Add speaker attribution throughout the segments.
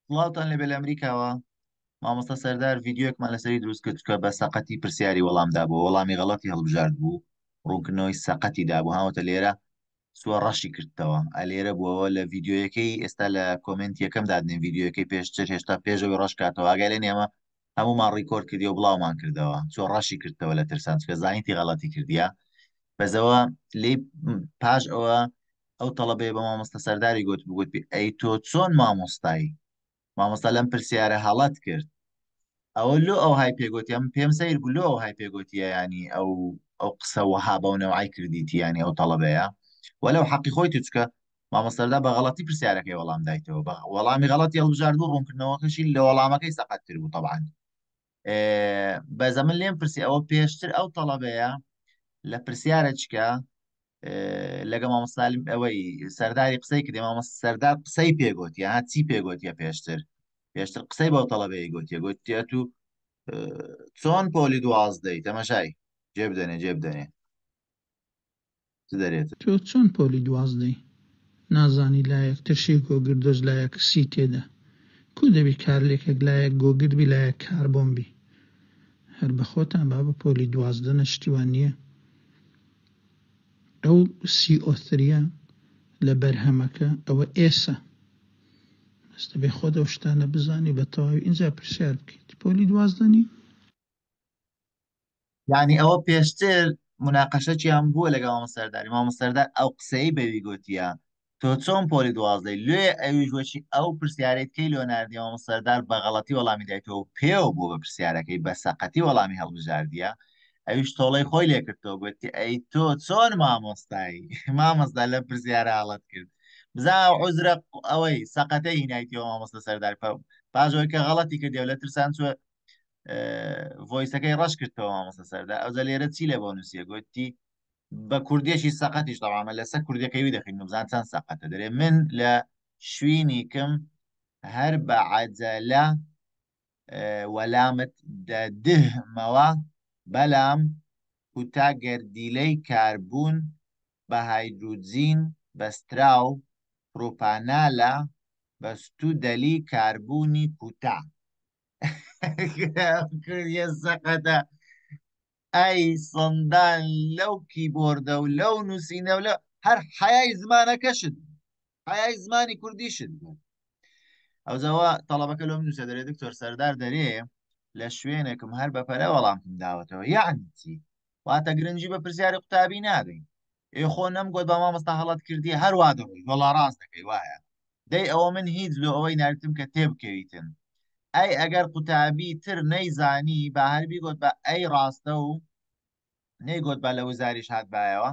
Speaker 1: سڵاوتان لێبێ لە ئەمریکاوە مامۆستا سەردار ڤیدیۆیەکمان لەسەری دروست کرد کە بە سەقەتی پرسیاری وەڵام دابوو وەڵامی غەڵەتی هەڵبژارد بوو ڕوونکردنەوەی سەقەتی دابوو هاوتە لێرە سووە ڕەشی کردەوە ئەلێرە بووەوە لە ڤیدیۆیەکەی ئێستا لە comment یەکەم دادنێن ڤیدیۆیەکەی پێشتر هێشتا پێشەوەی ڕەش کاتەوە ئاگای لێ نییە هەمومان record کردی و بڵاومان کردەوە چۆ ڕەشی کردەوە لە ترسان چکە زانیتی غەڵەتی کردیە بەزەوە لی پاش ئەوە ئەو تەڵەبەیە بە مامۆستا سەرداری گوت بگوت بی ئەی تۆ چۆن مامۆستای مامۆستا لەم پرسیارە هەڵەت کرد ئەوە لۆ ئەو های پێگوتی ئەم پێم سەیر بوو لۆ ئەو های پێگوتیە ینی ئەو ئەو قسە وەها بەو نەوعی کردیتی ینی ئەو تەڵەبەیە وەلو حەقی خۆی توچکە مامۆستەردا بە غەڵەتی پرسیارەکەی وەڵام دایتەوە بە وەڵامی غەڵەتی هەڵبژارد و ڕوونکردنەوەکەشی لە وەڵامەکەی سەقەتتر بوو تەبعەن بەزە من لێم پرسی ئەوە پێشتر ئەو تەڵەبەیە لە پرسیارە چکە لەگە مامۆستالم ئەوەی سەرداری قسەی کردی مامۆستا سەردار قسەی پێگوتیە ها چی پێگوتیە پێشتر پێشتر قسەی بەو تەڵەبەی گوتیە گوتیە تو چۆن پۆلی دوازدەی تەمەشای جێ بدەنێ جێ بدەنێ چ دەرێت.
Speaker 2: تۆ چۆن پۆلی دوازدەی نازانی لایەک ترشی گۆگردۆز لایەک سی تێدا کو دەبی کارلێکەک لایەک گۆگرد بی لایەک کاربۆن بی هەر بەخۆتان بابە پۆلی 12 نە شتی وا نیە ئەو سی ئۆ ثریە لە بەرهەمەکە ئەوە ئێسە بەس دەبێ خۆت ئەو شتانە بزانی بە تەواوی ئینجا پرسیار بکەیت پۆلی 12 نی.
Speaker 1: یعنی ئەوە پێشتر مناقەشەکیان بووە لەگەڵ مامۆستا سەرداری مامۆستا سەردار ئەو قسەی بەوی گوتیە تۆ چۆن پۆلی دوازدەی لێ ئەویش وەچی ئەو پرسیارێت کەی لۆ ناردی مامۆستا سەردار بە غەڵەتی وەڵامی دایتەوە و پێوە بووە بە پرسیارەکەی بە سەقەتی وەڵامی هەڵبژاردیە ئەویش تۆڵەی خۆی لێکردەوە گوتی ئەی تۆ چۆن مامۆستای مامۆستا لە پرسیارە هەڵەت کرد بزا عوزرە ئەوەی سەقەتەی هینایتەوە مامۆستا سەردار پاش ئەوەی کە غەڵەتی کردی و لە ترسان چوە voice ەکەی ڕەش کردەوە مامۆستا سەردا ئەوجا لێرە چی لە بۆ نووسیە گوتی بە کوردیەکی سەقەتیش تەوامە لەسەر کوردەکەی دەخین بزان چەند سەقەتە دەرێ من لە شوینیکم هەر بە عەجەلە وەلامت دەدهمەوە بەلام کوتا گەردیلەی کاربوون بە هایدروجین بەستراو پروپانالە بەستوو دەلی کاربوونی کوتا کوردیە سەقەتە ئەی سندان لەو کیبۆردە و لەو نووسینە و لە هەر حیای زمانەکەشت حیای زمانی کوردیشت بوو ئەوزەوە تەڵەبەکە لۆم نووسە دەرێ دکتۆر سەردار دەرێ لە شوێنێکم هەر بەپەلە وەڵامتم داوەتەوە یعنی چی واتە گرنگی بە پرسیاری قوتابی نادەین ئێ خۆ نەمگوت بە مامۆستا هەڵەت کردی هەر وا دەڕۆی وەڵا ڕاست دەکەی وایە دەی ئەوە من هیچ لۆ ئەوەی ناردم کە تێبکەویتن ئەی ئەگەر قوتابی تر نەیزانی با هەر بیگۆت بە ئەی ڕاستە و نەیگۆت با لە وزاریش هاتبایەوە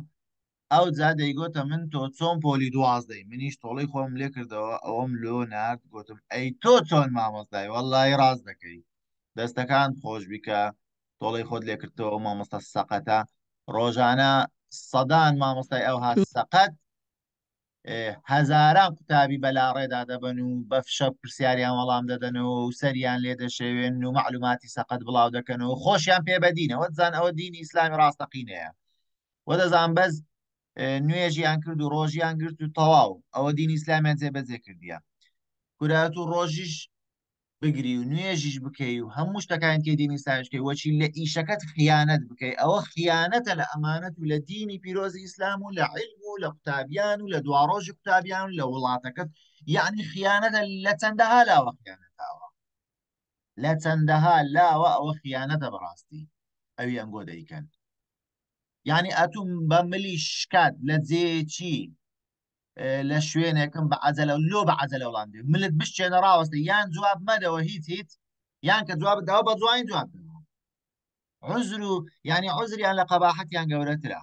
Speaker 1: ئەوجا دەیگۆتە من تۆ چۆن پۆلی دوازدەی منیش تۆڵەی خۆم لێ کردەوە ئەوەم لۆ نارد گۆتم ئەی تۆ چۆن مامۆستای وەڵڵاهی ڕاست دەکەی دەستەکان خۆش بی کە تۆڵەی خۆت لێ کردەوە مامۆستا سەقەتە ڕۆژانە سەدان مامۆستای ئەوها سەقەت هەزاران قوتابی بەلاڕێدا دەبەن و بە فشە پرسیاریان وەڵام دەدەنەوە و سەریان لێ دەشێوێن و معلوماتی سەقەت بڵاو دەکەنەوە خۆشیان پێ بەدینەوە دەزان ئەوە دینی ئیسلامی ڕاستەقینەیە و دەزان بەس نوێژیان کرد و ڕۆژیان گرت و تەواو ئەوە دینی ئیسلامیان جێبەجێ کردیە کورات و ڕۆژیش بگری و نوێژیش بکەی و هەموو شتەکانی تێ دینی ئیسلامیش بکەی وەچی لە ئیشەکەت خیانەت بکەی ئەوە خیانەتە لە ئەمانەت و لە دینی پیرۆزی ئیسلام و لە عیلم و لە قوتابیان و لە دواڕۆژی قوتابیان و لە وڵاتەکەت یعنی خیانەتە لە چەندەها لاوە خیانەتاوە لە چەندەها لاوە ئەوە خیانەتە بەڕاستی ئەوی ئەنگۆ دەیکەن یعنی ئەتوم بە ملی شکات لە جێیەکی لە شوێنێکم بە عەجەلە لۆ بە عەجەلە وەڵام دێ ملت بشچێنە ڕاوەستە یان جواب مەدەوە هیچ هیچ یان کە جواب داوە بە جوانی جواب دەوە عذر و یعنی عذریان لە قەباحەتیان گەورەترە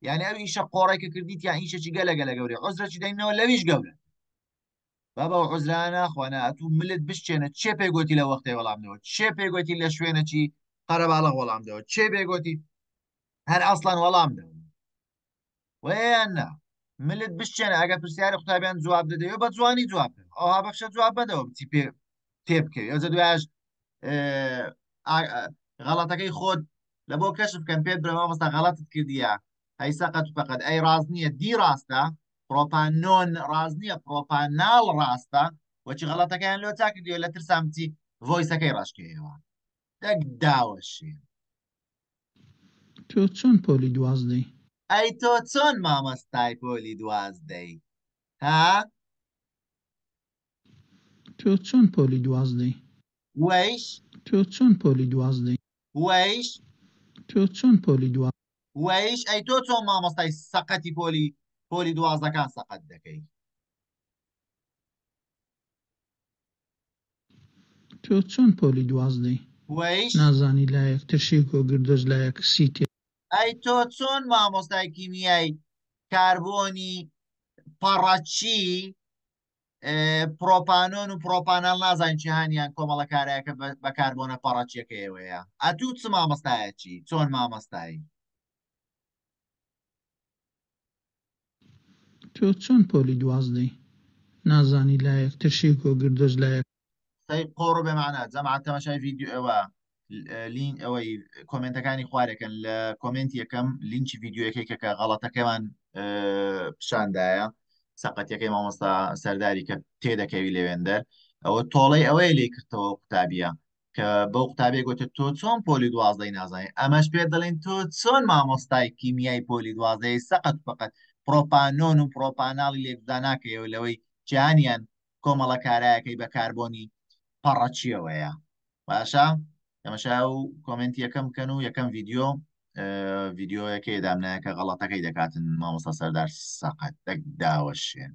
Speaker 1: یعنی ئەو ئیشە قۆڕێک کە کردیت یان ئیشەکی گەلە گەلە گەورەی عذرەکی دەینەوە لەویش گەورە بابا و عذرانە خوانە ئەتوو ملت بشچێنە چێ پێ گوتی لە وەختێ وەڵام دەوە چێ پێ گوتی لە شوێنەکی قەرەباڵغ وەڵام دەوە چێ پێ گوتی هەر ئەسڵان وەڵام دەوە وەیان نا ملت بشچێنە ئەگەر پرسیاری قوتابیان جواب دەدەوە بە جوانی جواب بدەوە ئەوها بەخشە جواب بدەوە بچی پێ تێ بکەوی ئەوجا دوایش غەڵەتەکەی خۆت لە بۆ کەشف بکەن پێت برێ مامۆستا غەڵەتت کردیە هەی سەقەت و پەقەت ئەی ڕاست نییە دی ڕاستە پرۆپانۆن ڕاست نییە پرۆپاناڵ ڕاستە. وەچی غەڵەتەکەیان لۆ چاک کردیوە لە ترسان بچی ڤۆیسەکەی ڕەشکەیەوە دەک داوەشێ.
Speaker 2: تۆ چۆن پۆلی دوازدەی؟
Speaker 1: ئەی تۆ چۆن مامۆستای پۆلی دوازدەی ها؟
Speaker 2: تۆ چۆن پۆلی دوازدەی؟
Speaker 1: وەیش؟
Speaker 2: تۆ چۆن پۆلی دوازدەی؟
Speaker 1: وەیش؟
Speaker 2: تۆ چۆن پۆلی دوا؟
Speaker 1: وەیش؟ ئەی تۆ چۆن مامۆستای سەقەتی پۆلی پۆلی دوازدەکان سەقەت دەکەی؟
Speaker 2: تۆ چۆن پۆلی دوازدەی؟
Speaker 1: وەیش؟
Speaker 2: نازانی لایەک ترشی گۆگردۆز لایەک سی تێ.
Speaker 1: ئەی تۆ چۆن مامۆستای کیمیای کاربۆنی پەڕەچی پرۆپانۆن و پرۆپانال نازانین چیهانیان کۆمەڵە کارایەکە بە کاربۆنە پەڕەچیەکەیەوەیە ئەتوو چ مامۆستایەکی چۆن مامۆستایی؟
Speaker 2: تۆ چۆن پۆلی دوازدەی؟ نازانی لایەک ترشی گۆگردۆز لایەک.
Speaker 1: قسەی قۆڕ و بێمانا جەماعەت تەماشای ڤیدیۆ ئەوە لین ئەوەی کۆمێنتەکانی خوارێکن لە کۆمێنت یەکەم لینکی ڤیدیۆیەکەی کە کە غەڵەتەکەمان پیشاندایە سەقەتەکەی مامۆستا سەرداری کە تێدەکەوی لەوێندەر ئەوە تۆڵەی ئەوەیە لێ کردەوە قوتابیە کە بەو قوتابیە گوتە تۆ چۆن پۆلی دوازدەی نازانی ئەمەش پێ دەڵێن تۆ چۆن مامۆستای کیمیای پۆلی دوازدەی سەقەت فقط پرۆپانۆن و پرۆپاناڵی لێکدا ناکەیەوە لەوەی جیهانیان کۆمەڵە کارایەکەی بە کاربۆنی پەڕەچیەوەیە باشە تەمەشا و کۆمنت یەکەم بکەن و یەکەم ڤیدیۆ ڤیدیۆیەکەی دامنایە کە غەڵەتەکەی دەکاتن مامۆستا سەردار سەقەت دەک داوەشێن.